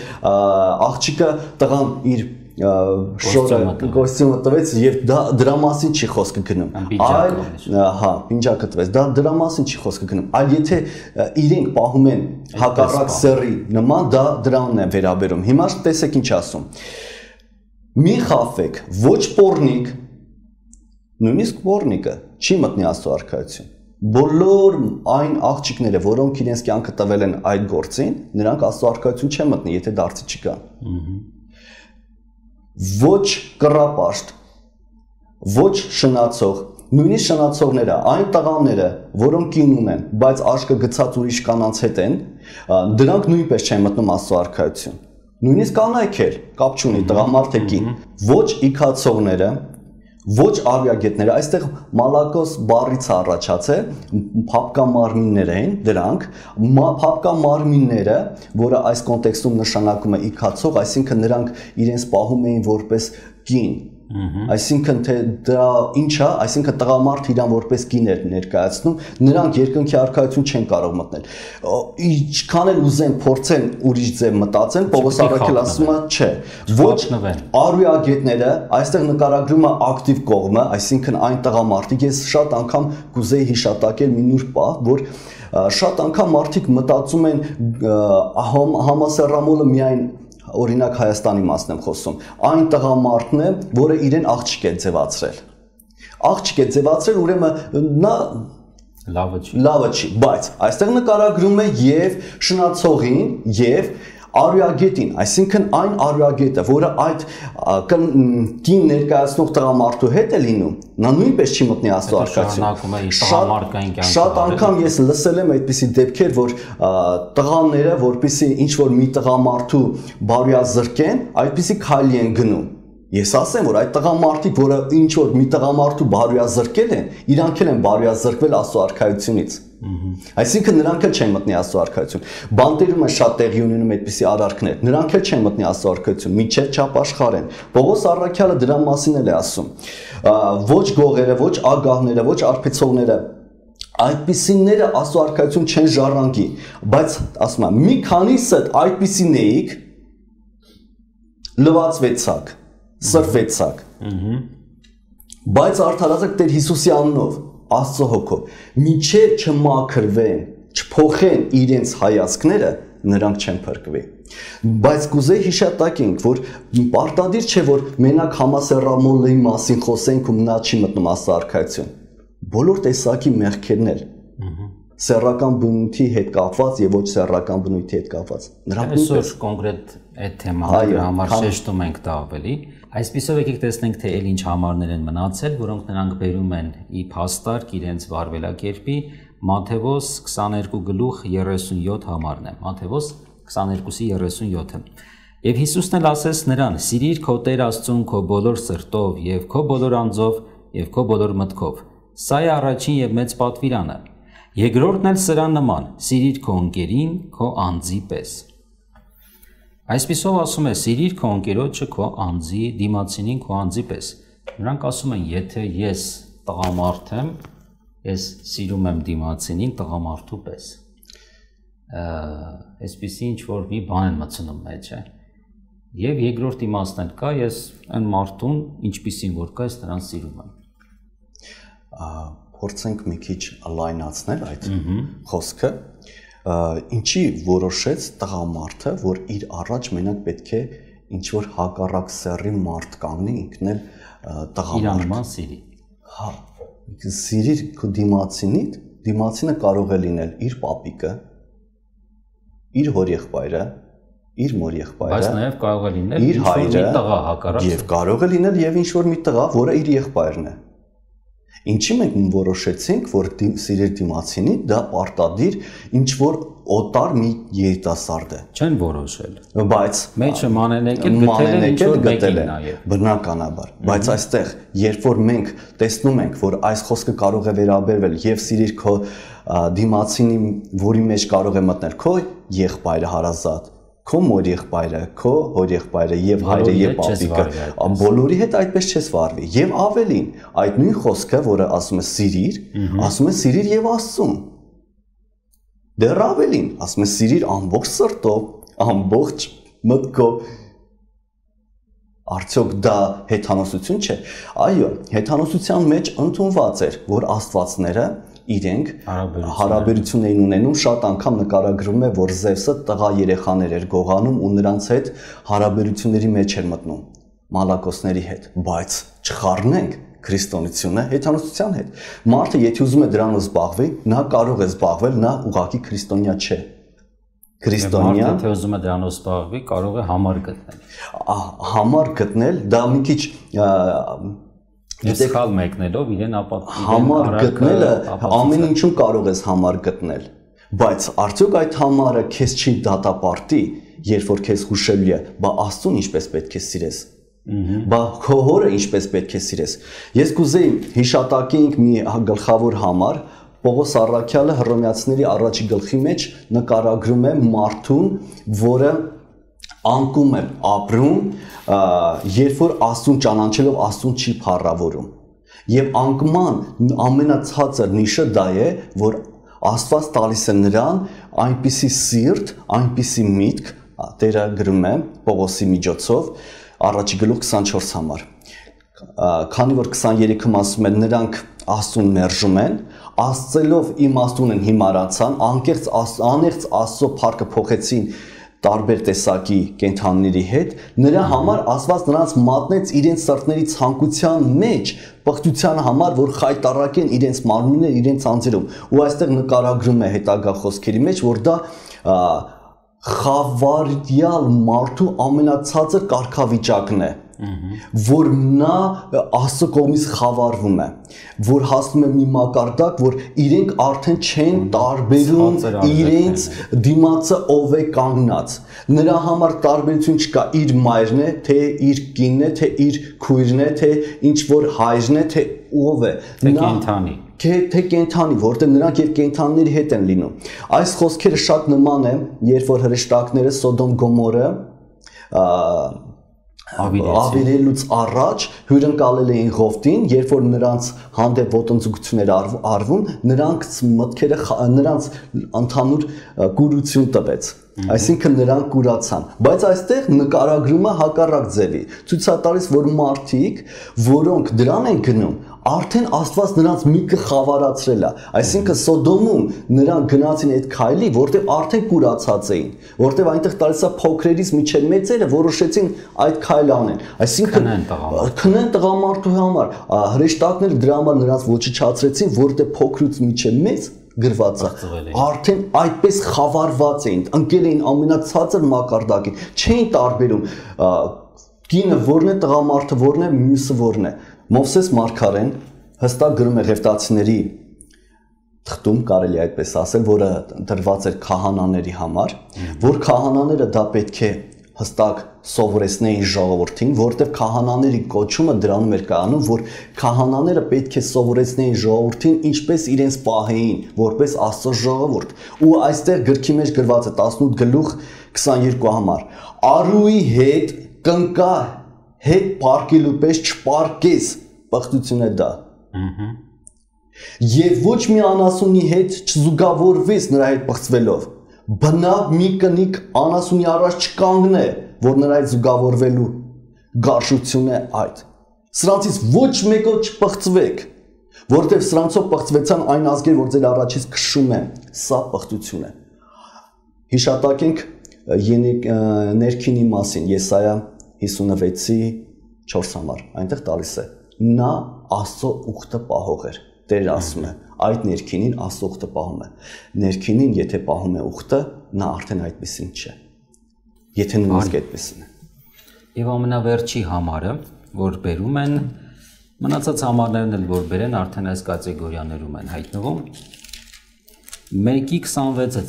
աղջիկը, տղան իր շորը կոստյումը տվեց եւ դրա մասին չի խոսքը գնում։ Այլ պինջակը տվեց, դա դրա մասին չի խոսքը գնում։ Այլ եթե իրենք պահում են հակառակ սեռի նման, դա դրանն է վերաբերում։ Հիմա տեսեք ինչ ասում։ Մի խաբվեք, ոչ պոռնիկ, նույնիսկ պոռնիկը չի մտնի Աստծո արքայություն։ Բոլոր այն աղջիկները, որոնք իրենց կյանքը տվել են այդ գործին, նրանք Աստծո արքայություն չեն մտնի, եթե դարձի չկան։ Ոչ կռապաշտ, ոչ շնացող, նույնիսկ շնացողները, այն տղաները, որոնք կին ունեն, բայց աշկը գցած ուրիշ կանանց հետ են, դրանք նույնպես չեն մտնում Աստծո արքայություն։ Նույնիսկ կանայք էլ, կապ չունի, տղամարդ է կին, ոչ իքացողները, ոչ արյագետները, այստեղ մալակոս բառից առաջացել, փապկա մարմիններ են դրանք, փապկա մարմինները, որը այս կոնտեքստում նշանակում է իքացող, այսինքն նրանք իրենց պահում էին որպես կին, այսինքն թե դա ինչ է, այսինքն տղամարդ իրան որպես կին էր ներկայացնում, նրանք երկնքի արքայություն չեն կարող մտնել։ Ինչքան էլ ուզեն փորձեն ուրիշ ձև մտածեն, Պողոս Առաքյալը ասում է, չէ, ոչ արյագետները, այստեղ նկարագրում է ակտիվ կողմը, այսինքն այն տղամարդիկ, ես շատ անգամ կուզեի հիշատակել մի նուրբ պահ, որ շատ անգամ մարդիկ մտածում են համասեռամոլը միայն օրինակ Հայաստանի մասն եմ խոսում, այն տղամարդն է, որը իրեն աղջիկ է ձևացրել։ Աղջիկ է ձևացրել, ուրեմն նա լավը չի, բայց այստեղ նկարագրում է եւ շնացողին եւ արյագետին, այսինքն այն արյագետը, որը այդ կին ներկայացնող տղամարդու հետ է լինում, նա նույնպես չի մտնի Աստծո արքայություն։ Շատ անգամ ես լսել եմ այդպիսի դեպքեր, որ տղաները, որպեսզի ինչ-որ մի տղամարդու բարոյազրկեն, այդպիսի քայլի են գնում։ Ես ասեմ, որ այդ տղամարդիկ, որը ինչ-որ մի տղամարդու բարոյազրկել են, իրանք էլ են բարոյազրկվել Աստծո արքայությունից։ Այսինքն նրանք էլ չեն մտնի Աստծո արքայություն։ Բանտերում է շատ տեղի ունենում այդպիսի արարքներ։ Նրանք էլ չեն մտնի Աստծո արքայություն, միջև չապաշխարեն։ Պողոս Առաքյալը դրա մասին էլ է ասում։ Ոչ գողերը, ոչ ագահները, ոչ արբեցողները այդպիսիները Աստծո արքայություն չեն ժառանգի, բայց ասում եմ, մի քանիսը այդպիսին էիք լվացվեցաք, սրվեցաք։ Բայց արդարացեք Տեր Հիսուսի անունով, Աստծո հոգով, մինչև չմաքրվեն, չփոխեն իրենց հայացքները, նրանք չեն փրկվի։ Բայց կուզեի հիշատակենք, որ պարտադիր չէ, որ մենակ համասեռամոլի մասին խոսենք ու նա չի մտնում Աստծո արքայություն։ Բոլոր տեսակի մեղքերն էլ սեռական բնույթի հետ կապված եւ ոչ սեռական բնույթի հետ կապված։ Նրանք այսօր կոնկրետ այդ թեման համար շեշտում ենք դա ավելի։ Այսպիսով եկեք տեսնենք, թե այլ ինչ համարներ են մնացել, որոնք նրանք բերում են ի փաստարկ իրենց վարվելակերպի Մատթեոս 22 գլուխ 37 համարն է։ Մատթեոս 22-ի 37-ը։ Եվ Հիսուսն էլ ասեց նրան. «Սիրիր քո Տեր Աստծուն քո բոլոր սրտով եւ քո բոլոր անձով եւ քո բոլոր մտքով Սա է առաջին եւ մեծ պատվիրանը։ Երկրորդն էլ սրան նման. սիրիր քո ընկերին քո անձի պես։ Այսպիսով ասում է, սիրիր քո ընկերոջը քո անձի, դիմացինին քո անձի պես։ Նրանք ասում են, եթե ես տղամարդ եմ, ես սիրում եմ դիմացինին տղամարդու պես։ Այսպիսի ինչ որ մի բան են մտցնում մեջը։ Եվ երկրորդ իմաստն կա, ես այն մարդուն, ինչպիսին որ կա, ես նրան սիրում եմ։ Փորձենք մի քիչ լայնացնել այդ խոսքը։ Ինչի որոշեց տղամարդը, որ իր առաջ մենակ պետք է ինչ որ հակառակ սեռի մարդ կանգնի, ինքն էլ տղամարդ։ Իր անման սիրի։ Հա, սիրիր քո դիմացինին, դիմացինը կարող է լինել իր պապիկը, իր հորեղբայրը, իր մորեղբայրը, բայց նաև կարող է լինել իր հայրը, տղա հակառակ։ Եվ կարող է լինել եւ ինչ որ մի տղա, որը իր եղբայրն է։ Ինչի մենք որոշեցինք, որ սիրել դիմացինի դա պարտադիր ինչ որ օտար մի երիտասարդ է։ Չեն որոշել։ Բայց մեջը մանենեկել գտել են նաև բնականաբար։ Բայց այստեղ, երբ որ մենք տեսնում ենք, որ այս խոսքը կարող է վերաբերվել եւ սիրիր քո դիմացինի, որի մեջ կարող է մտնել քո եղբայրը հարազատ, քո մոր եղբայրը, քո հոր եղբայրը եւ հայրը եւ պապիկը, բոլորի հետ այդպես չես վարվի։ Եվ ավելին, այդ նույն խոսքը, որը ասում է սիրիր, ասում է սիրիր եւ Աստծուն։ Դեռ ավելին, ասում է սիրիր ամբողջ սրտով, ամբողջ մտքով։ Արդյոք դա հեթանոսություն չէ։ Այո, հեթանոսության մեջ ընդունված էր, որ աստվածները իրենք հարաբերություն էին ունենում, շատ անգամ նկարագրվում է, որ Զևսը տղա երեխաներ էր գողանում ու նրանց հետ հարաբերությունների մեջ էր մտնում, մալակոսների հետ, բայց չխառնենք քրիստոնեությունը հեթանոսության հետ։ Մարդը եթե ուզում է դրանով զբաղվի, նա կարող է զբաղվել, նա ուղղակի քրիստոնյա չէ։ Քրիստոնյա, եթե ուզում է դրանով զբաղվի, կարող է համար գտնել։ Համար գտնել, դա մի քիչ Սխալ մեկնելով իրեն ապատկել համար գտնելը ամեն ինչում կարող ես համար գտնել, բայց արդյոք այդ համարը քեզ չի դատապարտի, երբ որ քեզ հուշելու է, բա Աստծուն ինչպես պետք է սիրես, բա քո հորը ինչպես պետք է սիրես։ Ես կուզեի հիշատակենք մի գլխավոր համար, Պողոս Առաքյալը Հռոմեացիների առաջի գլխի մեջ նկարագրում է մարդուն, որը անկում է ապրում, երբ որ Աստծուն ճանաչելով Աստծուն չի փառավորում։ Եվ անկման ամենացածր նիշը դա է, որ Աստված տալիս է նրան այնպիսի սիրտ, այնպիսի միտք, Տերը գրում է Պողոսի միջոցով, առաջի գլուխ 24 համար։ Քանի որ 23-ում ասում է նրանք Աստծուն մերժում են, Աստծելով իմաստուն են հիմարանցան, աներց Աստծո փառքը փոխեցին տարբեր տեսակի կենդանիների հետ, նրա համար Աստված նրանց մատնեց իրենց սրտների ցանկության մեջ, պղծության համար, որ խայտառակեն իրենց մարմինները, իրենց անձերում։ Ու այստեղ նկարագրում է հետագա խոսքերի մեջ, որ դա խավարյալ մարդու ամենացածր կարգավիճակն է, որ նա Աստծո կողմից խավարվում է, որ հասնում է մի մակարդակ, որ իրենք արդեն չեն տարբերում իրենց դիմացը ով է կանգնած։ Նրա համար տարբերություն չկա, իր մայրն է, թե իր կինն է, թե իր քույրն է, թե ինչ որ հայրն է, թե ով է։ Կենդանի։ Թե կենդանի, որտեղ նրանք եւ կենդանիների հետ են լինում։ Այս խոսքերը շատ նման են, երբ որ հրեշտակները Սոդոմ Գոմորը ավիրելուց առաջ հյուրընկալել էին Ղովտին, երբ որ նրանց հանդեպ ոտնձգություններ արվում, նրանց մտքերը նրանց ընդհանուր կուրություն տվեց, այսինքն նրանք կուրացան, բայց այստեղ նկարագրումը հակառակ ձևի, ցույց է տալիս, որ մարդիկ, որոնք դրան են գնում, արդեն Աստված նրանց միտքը խավարացրել է, այսինքն Սոդոմում նրանք գնացին այդ քայլի, որտեղ արդեն կուրացած էին, որտեղ այնտեղ տալիս է փոքրերից մինչև մեծերը որոշեցին այդ քայլը անեն, այսինքն քնեն տղամարդու համար, հրեշտակները դրա համար նրանց ոչնչացրեցին, որտեղ փոքրուց մինչև մեծ գրված է, արդեն այդպես խավարված էին, ընկել էին ամենացածր մակարդակին, չէին տարբերում կինը որն է, տղամարդը որն է, մյուսը որն է։ Մովսես Մարգարեն հստակ գրում է Ղևտացիների թղթում, կարելի է այդպես ասել, որը դրված էր քահանաների համար, որ քահանաները դա պետք է հստակ սովորեցնեին ժողովրդին, որովհետև քահանաների կոչումը դրանում էր կայանում, որ քահանաները պետք է սովորեցնեին ժողովրդին ինչպես իրենց պահեին, որպես Աստծո ժողովուրդ։ Ու այստեղ գրքի մեջ գրված է 18 գլուխ 22 համար. Արուի հետ կնկա հետ պարկելու պես չպարկես, պղտություն է դա։ Եվ ոչ մի անասունի հետ չզուգավորվես նրա հետ պղծվելով, բնավ մի կնիկ անասունի առաջ չկանգնե, որ նրա հետ զուգավորվելու գարշություն է այդ։ Սրանցից ոչ մեկով չպղծվեք, որովհետև սրանցով պղծվեցան այն ազգեր, որ ձեր առաջից քշում են, սա պղտություն է։ Հիշատակենք ներքինի մասին, Եսայա 56-ի 4 համար, այնտեղ տալիս է, նա Աստծո ուխտը պահող էր, Տեր ասում է, այդ ներքինին Աստծո ուխտը պահում է, ներքինին եթե պահում է ուխտը, նա արդեն այդպեսին չէ, եթե նույնիսկ այդպեսին է։ Եվ ամենավերջի համարը, որ բերում են, մնացած համարներն էլ որ բերեն, արդեն այս կատեգորիաներում են հայտնվում, 1:26 է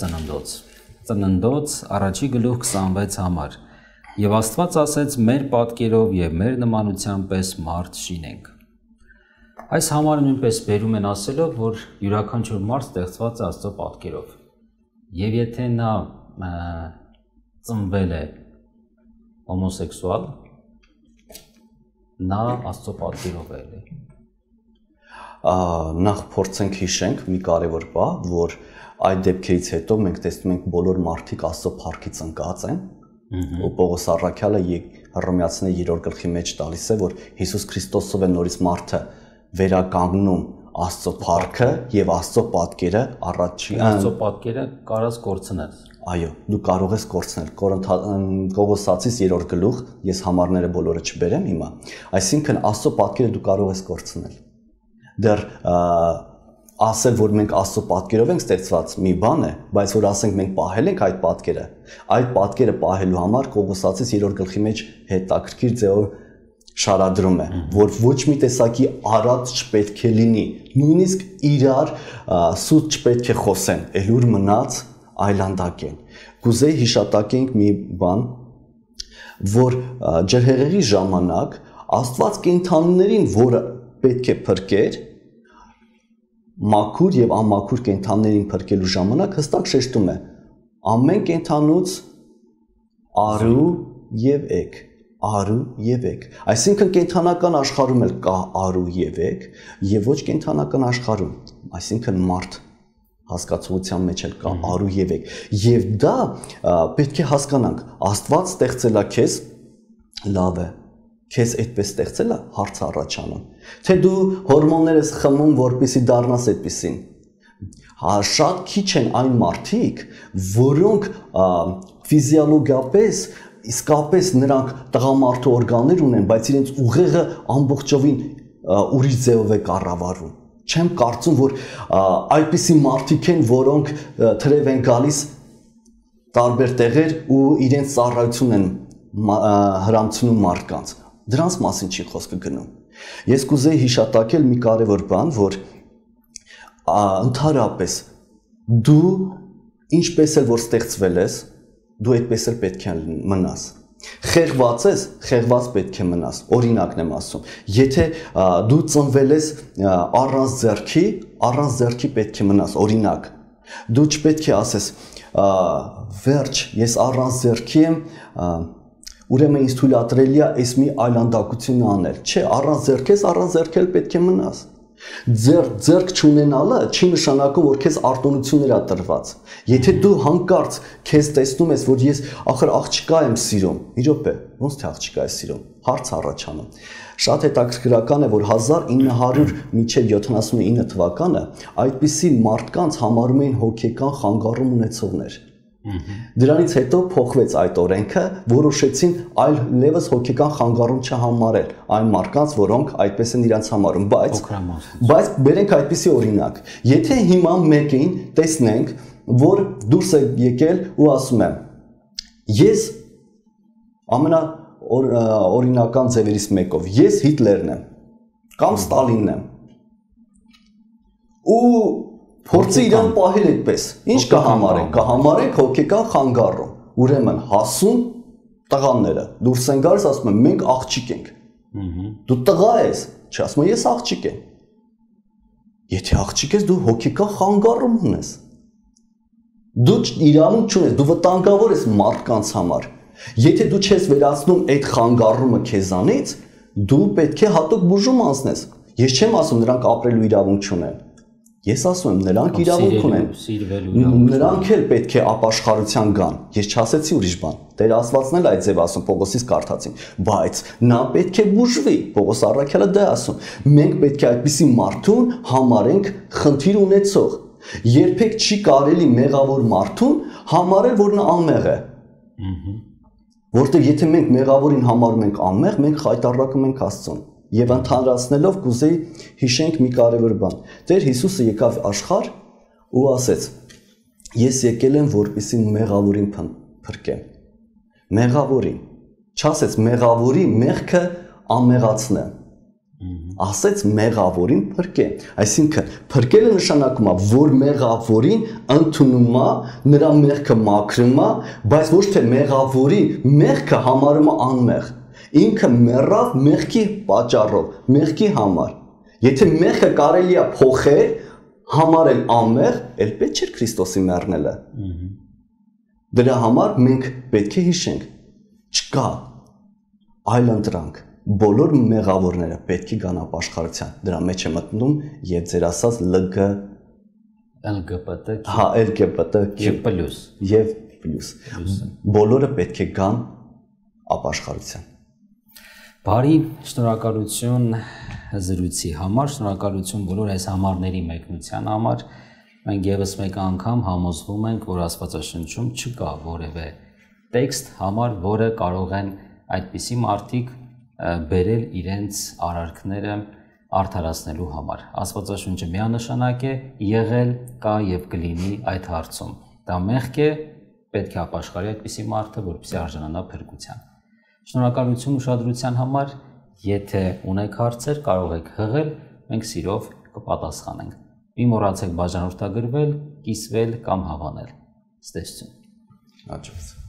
ծննդոց, առաջի գլուխ 26 համար, և Աստված ասեց մեր պատկերով և մեր նմանության պես մարդ շինենք։ Այս համարը նույնպես բերում են ասելով, որ յուրաքանչյուր մարդ ստեղծված է Աստծո պատկերով, և եթե նա ծնվել է հոմոսեքսուալ, նա Աստծո պատկերով է էլի։ Նախ փորձենք հիշենք մի կարևոր բան, որ այդ դեպքերից հետո մենք տեսնում ենք բոլոր մարդիկ Աստծո փառքից ընկած են, ու Պողոս առաքյալը Հռոմեացիների 3-րդ գլխի մեջ տալիս է, որ Հիսուս Քրիստոսով է նորից մարդը վերականգնում Աստծո փառքը եւ Աստծո պատկերը առաջի Աստծո պատկերը կարաս կորցնել։ Այո, դու կարող ես կորցնել։ Կողոսացիս 3-րդ գլուխ, ես համարները բոլորը չբերեմ հիմա, այսինքն Աստծո պատկերը դու կարող ես կորցնել։ Դեռ ասել, որ մենք Աստծո պատկերով ենք ստեղծված մի բան է, բայց որ ասենք մենք պահել ենք այդ պատկերը պահելու համար Կողոսացիս 3-րդ գլխի մեջ հետաքրքիր ձևով շարադրում է, որ ոչ մի տեսակի արած չպետք է լինի, նույնիսկ իրար սուտ չպետք է խոսեն, ելուր մնաց այլանդակեն։ Կուզեի հիշատակենք մի բան, որ ջրհեղեղի ժամանակ Աստված կենդանիներին, որը պետք է փրկեր, մաքուր եւ անմաքուր կենդանիներին փրկելու ժամանակ հստակ շեշտում է. ամեն կենդանուց արու եւ էգ, արու եւ էգ։ Այսինքն կենդանական աշխարհում էլ կա արու եւ էգ, եւ ոչ կենդանական աշխարհում, այսինքն մարդ հասկացության մեջ էլ կա արու եւ էգ։ Եվ դա պետք է հասկանանք, Աստված ստեղծել է քեզ, լավ է, քեզ այդպես ստեղծել է, հարց առաջանում, թե դու հորմոններ ես խմում, որպեսզի դառնաս այդպեսին։ Շատ քիչ են այն մարդիկ, որոնք ֆիզիոլոգիապես իսկապես նրանք տղամարդու օրգաններ ունեն, բայց իրենց ուղեղը ամբողջովին ուրիշ ձևով է կառավարվում։ Չեմ կարծում, որ այդպիսի մարդիկ են, որոնք թրև են գալիս տարբեր տեղեր ու իրենց ծառայություն են հրամցնում մարդկանց։ Դրանց մասին չի խոսքը գնում։ Ես կուզեի հիշատակել մի կարևոր բան, որ ընդհանրապես դու ինչպես էլ որ ստեղծվել ես, դու այդպես էլ պետք է մնաս։ Խեղված ես, խեղված պետք է մնաս։ Օրինակն եմ ասում։ Եթե դու ծնվել ես առանց ձեռքի պետք է մնաս, օրինակ։ Դու չպետք է ասես, վերջ, ես առանց ձեռքի եմ, ուրեմն ինձ թույլատրելի է այս մի այլանդակություն անել։ Չէ, առանց ձեռք էլ պետք է մնաս։ Ձեռք չունենալը չի նշանակում, որ քեզ արտոնություններ է տրված։ Եթե դու հանկարծ քեզ տեսնում ես, որ ես ախր աղջկա եմ սիրում, մի րոպե, ոնց թե աղջկա ես սիրում, հարց առաջանում։ Շատ հետաքրքրական է, որ 1900 մինչև 79 թվականը այդպիսի մարդկանց համարում էին հոգեկան խանգարում ունեցողներ։ Դրանից հետո փոխվեց այդ օրենքը, որոշեցին այլևս հոգեկան խանգարում չհամարել այն մարդկանց, որոնք այդպես են իրենց համարում, բայց բերենք այդպիսի օրինակ։ Եթե հիմա մեկին տեսնենք, որ դուրս է եկել ու ասում է. ես ամենաօրինական ձևերից մեկով, ես Հիտլերն եմ կամ Ստալինն եմ, ու փորձի իրան պահել այդպես, ինչ կհամարենք հոգեկան խանգարում, ուրեմն հասուն տղաները դուրս են գալիս, ասում են մենք աղջիկ ենք։ Դու տղա ես, չի ասում ես աղջիկ եմ։ Եթե աղջիկ ես, դու հոգեկան խանգարում ունես։ Դու իրավունք չունես, դու վտանգավոր ես մարդկանց համար։ Եթե դու չես վերացնում այդ խանգարումը քեզանից, դու պետք է հատուկ բուժում անցնես։ Ես չեմ ասում նրանք ապրելու իրավունք չունեն։ Ես ասում եմ նրանք իրավունք ունեն։ Նրանք էլ պետք է ապաշխարության գան։ Ես չասեցի ուրիշ բան։ Տեր Աստվածն էլ այդ ձև ասում, Պողոսից կարդացին, բայց նա պետք է բուժվի։ Պողոս առաքյալը դա ասում։ Մենք պետք է այդպիսի մարդուն համարենք խնդիր ունեցող։ Երբեք չի կարելի մեղավոր մարդուն համարել, որ նա անմեղ է։ Որտեղ եթե մենք մեղավորին համարում ենք անմեղ, մենք խայտառակում ենք Աստծուն։ Եվ ընդհանրացնելով կուզեի հիշենք մի կարևոր բան։ Տեր Հիսուսը եկավ աշխարհ ու ասեց. Ես եկել եմ, որպեսզի մեղավորին փրկեմ։ Մեղավորին։ Չասեց մեղավորի մեղքը անմեղացնեմ։ Ասեց մեղավորին փրկեմ։ Այսինքն փրկելը նշանակում է, որ մեղավորին ընդունում է, նրա մեղքը մաքրում է, բայց ոչ թե մեղավորի մեղքը համարում է անմեղ։ Ինքը մեռավ մեղքի պատճառով, մեղքի համար։ Եթե մեղքը կարելի է փոխել, համարել անմեղ, էլ պետք չէ Քրիստոսի մեռնելը։ Դրա համար մենք պետք է հիշենք, չկա այլ ընտրանք։ Բոլոր մեղավորները պետք է գան ապաշխարության։ Դրա մեջ է մտնում եւ ձեր ասած LGBT, հա, LGBT եւ պլյուս։ Բոլորը պետք է գան ապաշխարության։ Բարի, շնորհակալություն զրույցի համար, շնորհակալություն բոլոր այս համարների մեկնության համար։ Մենք եւս մեկ անգամ համոզվում ենք, որ Աստվածաշնչում չկա որևէ տեքստ համար, որը կարող են այդպիսի մարդիկ բերել իրենց արարքները արդարացնելու համար։ Աստվածաշունչը միանշանակ է, եղել, կա եւ կլինի այդ հարցում։ Դա մեղք է, պետք է ապաշխարի այդպիսի մարդը, որպեսզի արժանանա փրկության։ Շնորհակալություն ուշադրության համար, եթե ունեք հարցեր, կարող եք հղել, մենք սիրով կպատասխանենք։ Մի մոռացեք բաժանորդագրվել, կիսվել կամ հավանել։ Ստեսություն։ Աջակցություն։